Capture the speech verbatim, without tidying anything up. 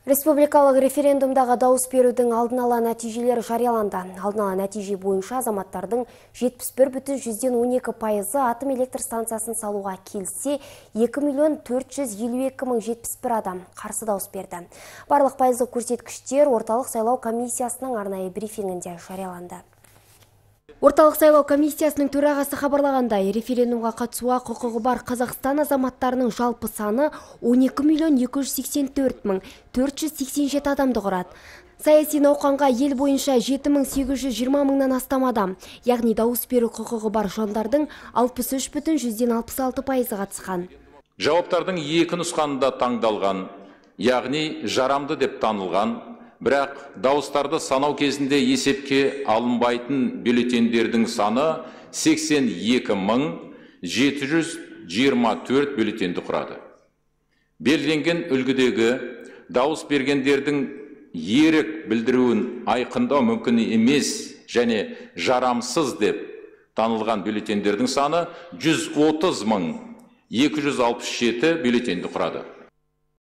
Республикалық референдумдағы дауыс берудің алдын ала нәтижелері жарияланды. Алдын ала нәтиже бойынша азаматтардың жетпіс бір бүтін жүзден он екі пайызы атом электр станциясын салуға келсе, екі миллион төрт жүз елу екі мың жетпіс бір адам қарсы дауыс берді. Барлық пайыздық көрсеткіштер орталық сайлау комиссиясының арнайы брифингінде жарияланды. Орталық сайлау комиссиясының төрағасы хабарлағандай, референдумға қатысуға құқығы бар Қазақстан азаматтарының жалпы саны он екі миллион екі жүз сексен төрт мың төрт жүз сексен жеті адамды құрады. Саяси науқанға ел бойынша жеті мың сегіз жүз жиырма мыңнан астам адам, яғни дауыс беру құқығы бар жандардың алпыс үш бүтін жүзден алпыс алты пайызы қатысқан. Жауаптардың екі нұсқанында таңдалған, яғни жарамды деп танылған, бірақ дауыстарды санау кезінде есепке алынбайтын бюллетендердің саны сексен екі мың жеті жүз жиырма төрт бюллетенді құрады. Белгіленген үлгідегі дауыс бергендердің ерік білдіруін айқындау мүмкін емес және жарамсыз деп танылған бюллетендердің саны жүз отыз мың екі жүз алпыс жеті бюллетенді құрады.